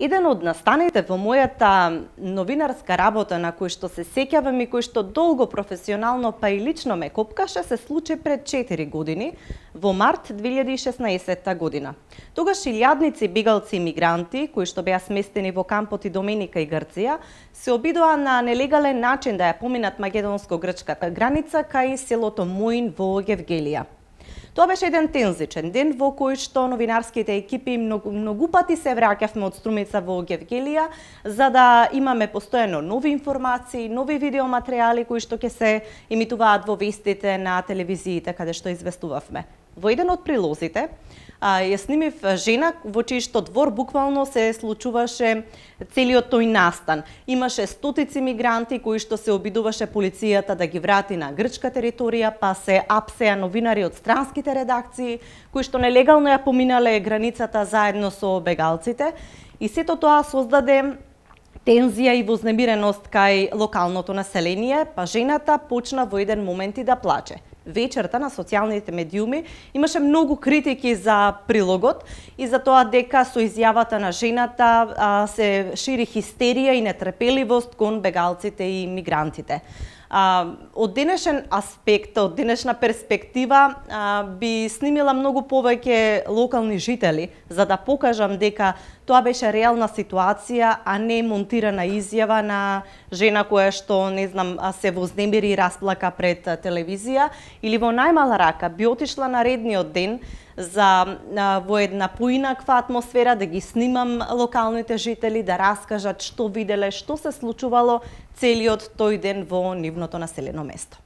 Еден од настаните во мојата новинарска работа на кој што се сеќавам и кој што долго професионално па и лично ме копкаше се случи пред 4 години, во март 2016 година. Тогаш илјадници бегалци и мигранти, кои што беа сместени во кампот Идоменика и Грција, се обидоа на нелегален начин да ја поминат македонско-грчката граница кај селото Моин во Гевгелија. Тоа беше еден тензичен ден во кој што новинарските екипи многу пати се враќавме од Струмица во Гевгелија за да имаме постојано нови информации, нови видеоматеријали кои што ќе се емитуваат во вестите на телевизиите каде што известувавме. Во еден од прилозите ја снимив жена во чиј што двор буквално се случуваше целиот тој настан. Имаше стотици мигранти кои што се обидуваше полицијата да ги врати на грчка територија, па се апсеа новинари од странските редакции кои што нелегално ја поминале границата заедно со бегалците и сето тоа создаде тензија и вознемиреност кај локалното население, па жената почна во еден момент и да плаче. Вечерта на социјалните медиуми имаше многу критики за прилогот и за тоа дека со изјавата на жената се шири хистерија и нетрпеливост кон бегалците и мигрантите. Од денешен аспект, од денешна перспектива, би снимила многу повеќе локални жители, за да покажам дека тоа беше реална ситуација, а не монтирана изјава на жена која што, не знам, се вознемири и расплака пред телевизија, или во најмала рака би отишла на редниот ден за во една поинаква атмосфера да ги снимам локалните жители, да раскажат што виделе, што се случувало целиот тој ден во нивното населено место.